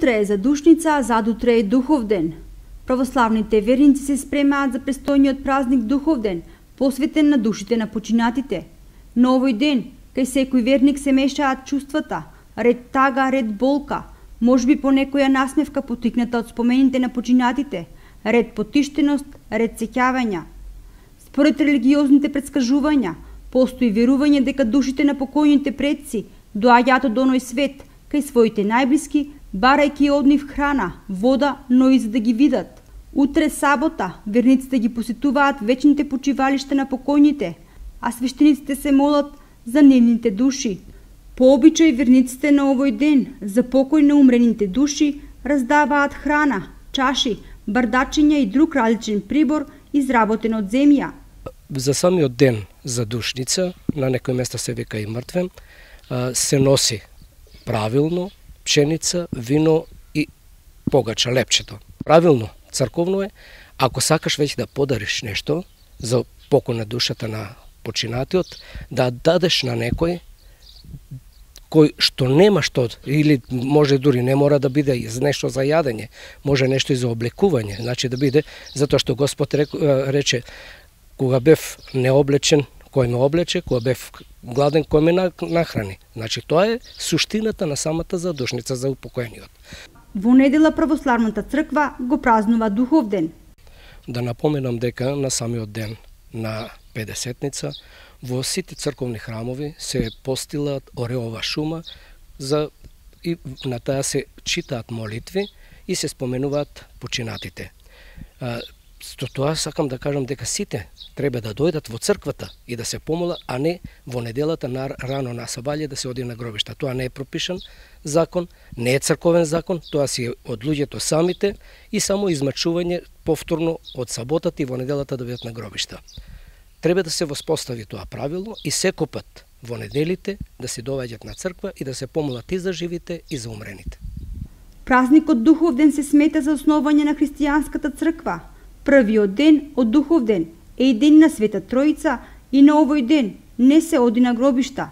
Утре е задушница, а задутре е Духовден. Православните верници се спремаат за престојниот празник Духовден, посветен на душите на починатите. На овој ден, кај секој верник се мешаат чувствата, ред тага, ред болка, можеби по некоја насмевка потикната од спомените на починатите, ред потиштеност, ред сеќавања. Според религиозните претскажувања, постои верување дека душите на покојните предци доаѓаат од оној свет, кај своите најблиски, барајќи од нив храна, вода, но и за да ги видат. Утре сабота, верниците ги посетуваат вечните почивалишта на покојните, а свештениците се молат за нивните души. По обичај верниците на овој ден за покој на умрените души раздаваат храна, чаши, бардачиња и друг различен прибор изработен од земја. За самиот ден за душница, на некој места се вика и мртвен, се носи правилно пшеница, вино и погача, лепчето. Правилно, црковно е, ако сакаш веќе да подариш нешто за покој на душата на починатиот, да дадеш на некој кој што нема што, или може дури не мора да биде нешто за јадење, може нешто и за облекување, значи да биде, затоа што Господ рече, кога бев необлечен, кој ме облече, кога бев гладен, кој ме нахрани. Значи тоа е суштината на самата задушница за упокоениот. Во недела православната црква го празнува Духовден. Да напоменам дека на самиот ден на Педесетница во сите црковни храмови се постилат ореова шума и на таа се читаат молитви и се споменуваат починатите. Со тоа сакам да кажам дека сите треба да дојдат во црквата и да се помола, а не во неделата рано на сабаље да се оди на гробишта. Тоа не е пропишан закон, не е црковен закон, тоа си е од луѓето самите и само измачување повторно од саботата и во неделата да бидат на гробишта. Треба да се воспостави тоа правило и секој пат во неделите да се доаѓаат на црква и да се помолат и за живите и за умрените. Празникот Духовден се смета за основање на христијанската црква. Првиот ден од Духовден е и ден на Света Тројца и на овој ден не се оди на гробишта.